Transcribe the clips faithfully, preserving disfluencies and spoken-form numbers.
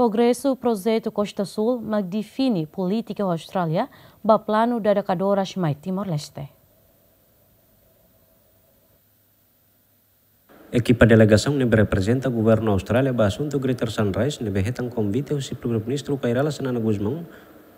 Progresu projetu Costa Sul mak define polítika Austrália ba planu dada kadoras mai Timor-Leste. Ekipa delegasaun ne'ebé reprezenta governu Austrália ba asuntu Greater Sunrise ne'ebé hetan konvite husi Primeiru-Ministru Kay Rala Xanana Gusmão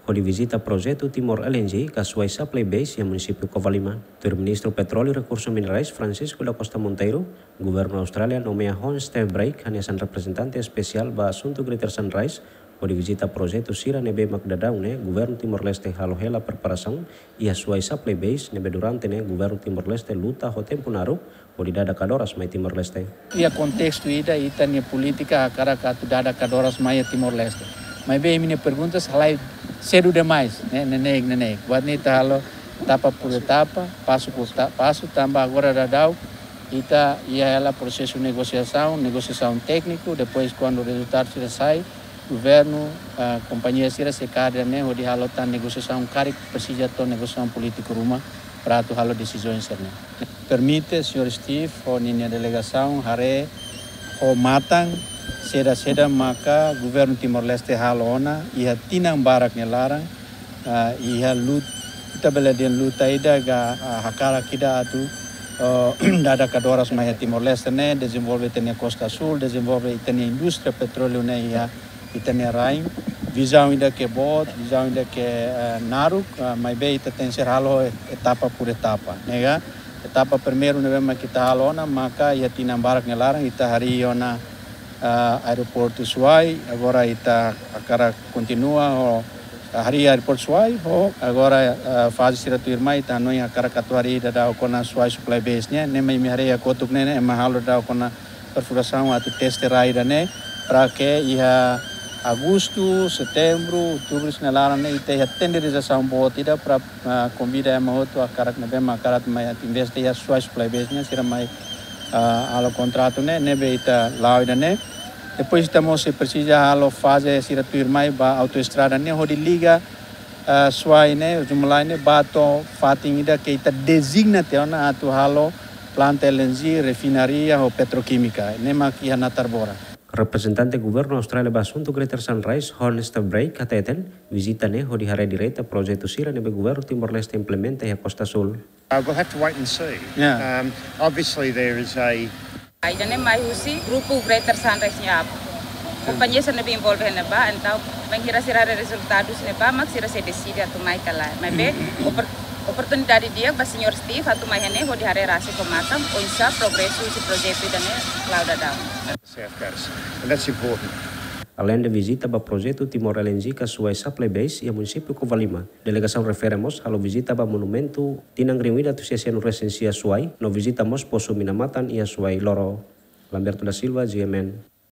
hodi vizita projetu Timor L N G ka Suai Supply Base iha munisípiu Covalima. Tuir Ministru Petróleu i Rekursu Minerais Francisco da Costa Monteiro, governu Austrália nomeia Hon Steve Brake hanesan reprezentante espesiál ba asuntu Greater Sunrise hodi vizita projetu sira ne'ebé mak daudaun ne'e governu Timor-Leste halo hela preparasaun iha Suai Supply Base ne'ebé durante ne'e governu Timor-Leste luta ho tempu naruk hodi dada kadoras mai Timor-Leste. Iha kontestu ida ita-nia polítika hakarak atu dada kadoras mai iha Timor-Leste. Maibé imi-nia perguntas halai sedu demais, ne'e, neineik, neineik. Buat ne'e ita halo etapa por etapa, pasu por ta-, pasu, tanba agora daudaun ita iha hela prosesu negosiasaun, negosiasaun tékniku, depois kuandu rezultadu sira sai, governu, ah, kompañia sira sei kaer ida-ne'e hodi halo tan negosiasaun karik presiza to'o negosiasaun polítiku ruma para atu halo desizaun sira-ne'e. Permite señór Steve ho ninia delegasaun haree ho matan saida-saida maka governu Timor-Leste halo ona iha tinan barak nia laran, ah, iha lut-, ita bele dehan luta ida ka, ah, hakarak ida atu, oh, dada kadoras mai iha Timor-Leste ne'e, dezenvolve ita-nia Costa Sul, dezenvolve ita-nia indústria petróleu ne'e iha ita-nia rain. Vizaun ida ke boot, vizaun ida ke, eh, naruk, ah, maibé ita tenke halo etapa por etapa, ne'e ka? Etapa primeiru ne'ebé mak ita halo ona maka iha tinan barak nia laran ita harii ona, ah, aeroportu Suai, agora ita hakarak kontinua ho, ah, harii aeroportu Suai, ho agora, ah, faze sira tuirmai ita hanoin hakarak atu harii daudaun ona Suai Supply Base nian, ne'e mak imi haree iha kotuk ne'e, ne'e ema halo daudaun ona perfurasaun atu teste rai ida-ne'e, para ke iha agostu, setembru, outubru sira-nia laran ne'e ita iha tenderizasaun boot ida para, ah, konvida ema hotu hakarak ne'ebé mak hakarak mai atu investe iha Suai Supply Base nian, sira mai, ah, halo kontratu ne'e, ne'ebé ita la'o ida-ne'e. Depois ita mós sei presiza halo faze sira tuirmai ba autoestrada ne'e hodi liga, ah, Suai ne'e, Zumalai ne'e, ba to'o fatin ida ke ita dezigna tiha ona atu halo planta L N G, refinaria ho petroquímica, ne'e mak iha Natarbora. Reprezentante governu Austrália ba asuntu Greater Sunrise, Hon Steve Brake, hateten, vizita ne'e hodi haree direta projetu sira ne'ebé governu Timor-Leste implementa iha Costa Sul. Uh, we'll have to wait and see. Yeah. Um, obviously there is a Ida-ne'e mai husi grupu Greater Sunrise nian. Kompañia sira ne'ebé envolve iha ne'ebá, entaun bainhira sira haree rezultadu iha ne'ebá, mak sira sei deside atu mai ka lae. Maibé, opor-, oportunidade di'ak ba señór Steve atu mai iha ne'e hodi haree rasik ho matan, oinsá progresu husi projetu ida-ne'e la'o daudaun. South Coast, and that's important. Aleinde vizita ba projetu Timor L N G ka Suai Supply Base iha munisípiu Covalima, delegasaun refere mós halo vizita ba monumentu tinan rihun ida atus sia sianulu resin sia Suai, no vizita mós posu mina matan iha Suai Loro. Lamberto da Silva, G M N.